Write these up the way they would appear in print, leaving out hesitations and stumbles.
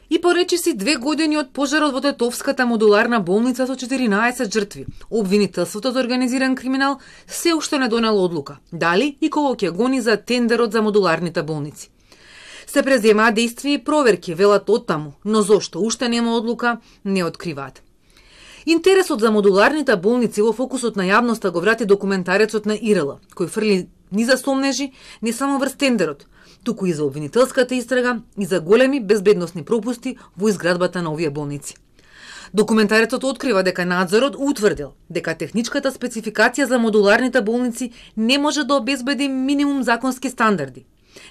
И поречиси 2 години од пожарот во Тетовската модуларна болница со 14 жртви, обвинителството за организиран криминал се уште не донело одлука, дали и кого ќе гони за тендерот за модуларните болници. Се преземаа действија и проверки, велат оттаму, но зошто уште нема одлука, не откриваат. Интересот за модуларните болници во фокусот на јавноста го врати документарецот на ИРЛ, кој фрли ни за сомнежи, не само врз тендерот, туку и за обвинителската истрага и за големи безбедносни пропусти во изградбата на овие болници. Документарецот открива дека надзорот утврдил дека техничката спецификација за модуларните болници не може да обезбеди минимум законски стандарди.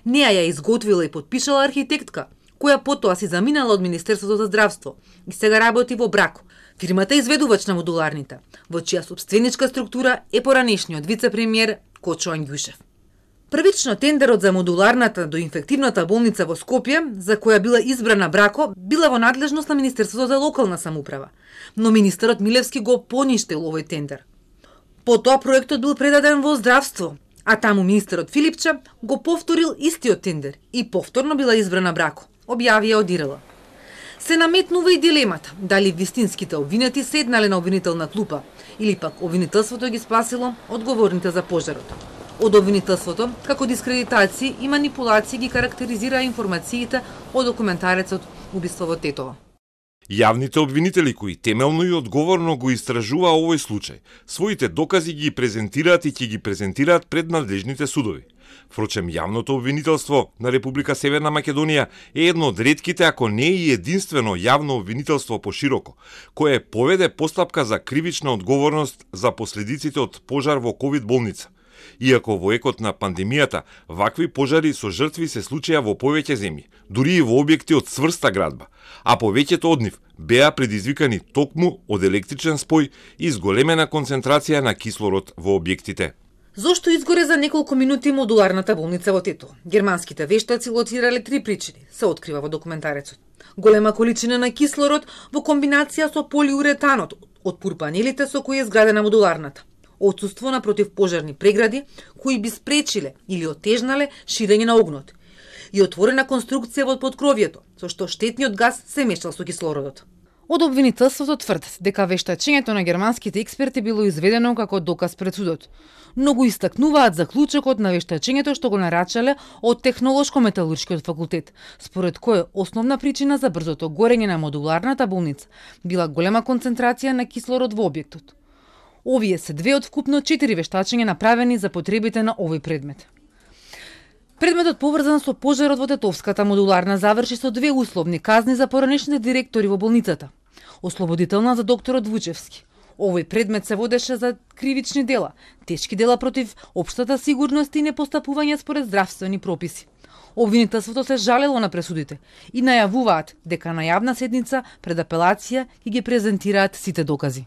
Неа ја изготвила и подпишала архитектка, која потоа си заминала од Министерството за здравство и сега работи во Брако, фирмата изведувач на модуларните, во чија собственичка структура е поранешниот вице-премиер Кочо Ангјушев. Првично тендерот за модуларната до инфективната болница во Скопје, за која била избрана Брако, била во надлежност на Министерството за локална самоуправа, но министерот Милевски го поништил овој тендер. Потоа проектот бил предаден во здравство, а таму министерот Филипче го повторил истиот тендер и повторно била избрана Брако, објавија од ИРЛ. Се наметнува и дилемата дали вистинските обвинети седнале на обвинителна клупа или пак обвинителството ги спасило одговорните за пожарот. Од обвинителството, како дискредитации и манипулации ги карактеризира информациите од документарецот Убиство во Тетово. Јавните обвинители кои темелно и одговорно го истражуваа овој случај, своите докази ги презентираат и ќе ги презентираат пред надлежните судови. Впрочем, јавното обвинителство на Република Северна Македонија е едно од ретките, ако не и единствено јавно обвинителство пошироко, кое поведе постапка за кривична одговорност за последиците од пожар во ковид болница. Иако во екот на пандемијата, вакви пожари со жртви се случија во повеќе земји, дури и во објекти од цврста градба, а повеќето од нив беа предизвикани токму од електричен спој и зголемена концентрација на кислород во објектите. Зошто изгоре за неколку минути модуларната болница во Тетово? Германските вештаци лоцирале 3 причини, се открива во документарецот. Голема количина на кислород во комбинација со полиуретанот од пурпанелите со кои е изградена модуларната. Отсуство на противпожарни прегради кои би спречиле или отежнале ширење на огнот и отворена конструкција во подкровието, со што штетниот газ се мешал со кислородот. Од обвинителството тврдат дека вештачењето на германските експерти било изведено како доказ пред судот, но го истакнуваат заклучокот на вештачењето што го нарачале од Технолошко-металуршкиот факултет, според кој основна причина за брзото горење на модуларната болница била голема концентрација на кислород во објектот. Овие се 2 од вкупно 4 вештачења направени за потребите на овој предмет. Предметот поврзан со пожарот во Тетовската модуларна заврши со 2 условни казни за поранешните директори во болницата. Ослободителна за докторот Вучевски. Овој предмет се водеше за кривични дела, тешки дела против општата сигурност и непостапување според здравствени прописи. Обвинителството се жалело на пресудите и најавуваат дека на јавна седница пред апелација ќе ги презентираат сите докази.